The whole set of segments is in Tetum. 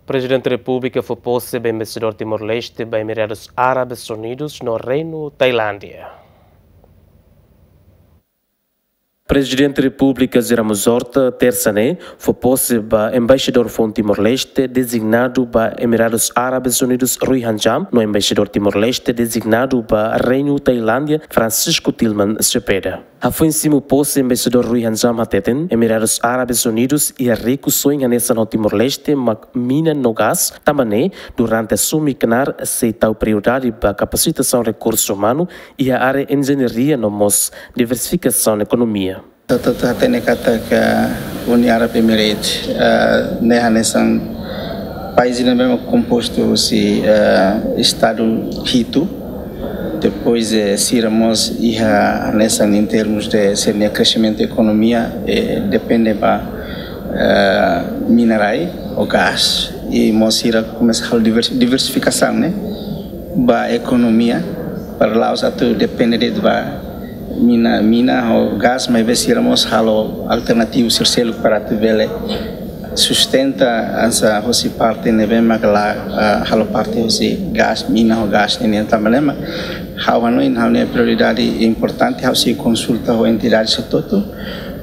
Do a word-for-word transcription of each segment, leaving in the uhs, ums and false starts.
Prezidente Repúblika fó pose ba Embaixadór Timor-Leste ba Emiradus Árabes Unidus no Reinu Tailándia. Prezidente Repúblika José Ramos Horta, tersa ne'e, fó pose ba Embaixadór foun Timor-Leste dezignadu ba Emiradus Árabes Unidus Rui Hanjam, no Embaixadór Timor-Leste dezignadu ba Reinu Tailándia, Francisco Tilman Cepeda. Hafoin simu pose, Embaixadór Rui Hanjam hateten, Emiradus Árabes Unidus iha rikusoin hanesan ho Timor-Leste, mak mina no gás, tanba ne'e, durante asume knaar sei tau prioridade ba kapasitasaun rekursu umanu iha área enjeñaria no mós diversifikasaun ekonomia. Ita hotu hatene katak Uni Arab Emirates, eh, ne'e hanesan país ne'ebé mak kompostu husi, eh, estadu hitu. Depois, eh, sira mós iha hanesan em termos de sira-nia kreximentu ekonomia, eh, depende ba, eh, mina rai ou gás. I mós sira komesa halo divers-, diversifikasaun, ne'e, ba ekonomia, para la'ós atu depende de'it ba mina, mina ou gás, maibé sira mós halo alternativu sira seluk para atu bele sustenta hanesan hosi parte ne'ebé mak la, ah, halo parte hosi gás, mina ou gás ne'e nian. Tanba ne'e mak ha'u hanoin ha'u-nia prioridade importante, ha'u sei konsulta ho entidade sira hotu,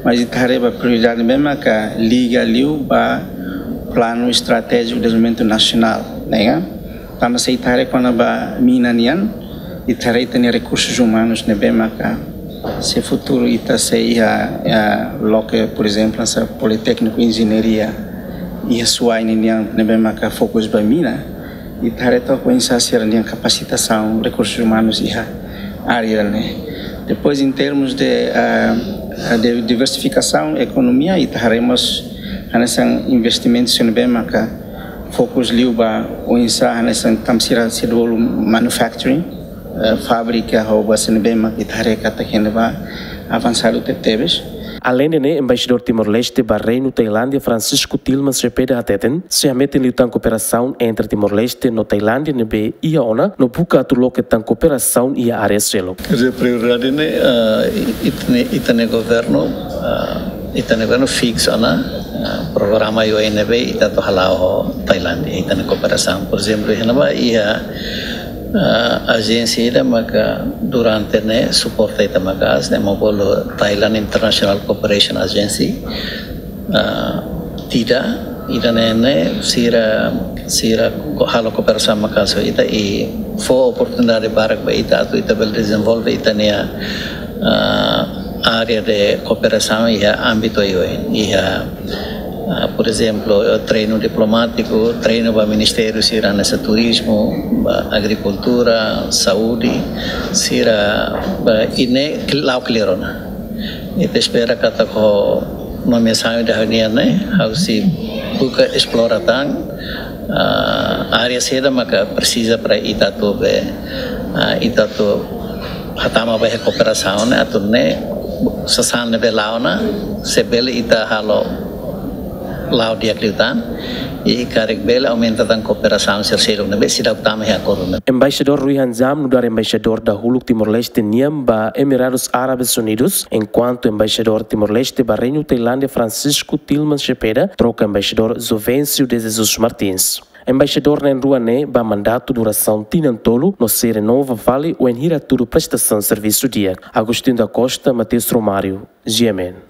mas ita haree ba prioridade ne'ebé mak liga liu ba planu estratéjiku dezenvolvimentu nasionál, ne'e kan? Tanba se ita haree kona-ba mina nian, ita haree ita-nia rekursus umanus ne'ebé maka se futuru ita sei iha, iha loke, por ezemplu, hanesan Politékniku Enjeñaria iha Suai nian ne'ebé maka fokus ba mina, ita haree took oinsá sira-nia kapasitasaun rekursus umanus iha área ne'e. Depois, em termos de, ah, de diversifikasaun ekonomia, ita haree mós hanesan investimentu sira ne'ebé maka fokus liu ba oinsá hanesan tanba sira, sira bolu manufacturing, eh, fábrika ou ba sira ne'ebé mak ita haree katak iha ne'ebá avansadu tebetebes. Aleinde ne'e, Embaixadór Timor-Leste ba Reinu Tailándia, Francisco Tilman Cepeda hateten, sei hametin liután kooperasaun entre Timor-Leste no Tailándia ne'ebé iha ona, no buka atu loke tan kooperasaun iha área seluk. Quer dizer, prioridade ne'e, ah, ita-nia, ita-nia governu, ah, ita-nia governu fiksa ona, ah, programa U N ne'ebé ita atu hala'o ho Tailándia, ita-nia kooperasaun. Por ezemplu, iha ne'ebá iha, ah, ajénsia ida maka durante ne'e suporta ita maka'as, ne'e mak bolu Thailand International Cooperation Agency, ah, TIDA, ida-ne'e ne'e sira, sira ko-, halo kooperasaun maka'as ho ita i fó oportunidade barak ba ita atu ita bele dezenvolve ita-nia, ah, área de kooperasaun iha ámbitu oioin, iha, ah, por ezemplu, treinu diplomátiku, treinu ba ministériu sira hanesan turizmu, ba agrikultura, saúde, sira, ba, i ne'e kl-, la'o klir ona. Ita espera katak ho nomeasaun ida-ne'e, ha'u sei buka esplora tan, ah, área saida maka presiza para ita atu be, ah, ita atu hatama ba iha kooperasaun ne'e, atu nune'e sasán ne'ebé la'o ona, se bele ita halo la'o di'ak liután, i karik bele aumenta tan kooperasaun sira seluk ne'ebé seidauk tama iha akordu ne'e. Embaixadór Rui Hanjam nu'udar embaixadór dahuluk Timor-Leste nian ba Emiradus Árabes Unidus, enkuantu embaixadór Timor-Leste ba Reinu Tailándia, Francisco Tilman Cepeda, troka embaixadór Jovencio de Jesus Martins. Embaixadór na'in-rua ne'e ba mandatu durasaun tinan tolu no sei renova fali wainhira hatudu prestasaun servisu di'ak. Agostinho da Costa, Mateus Romário, G M N.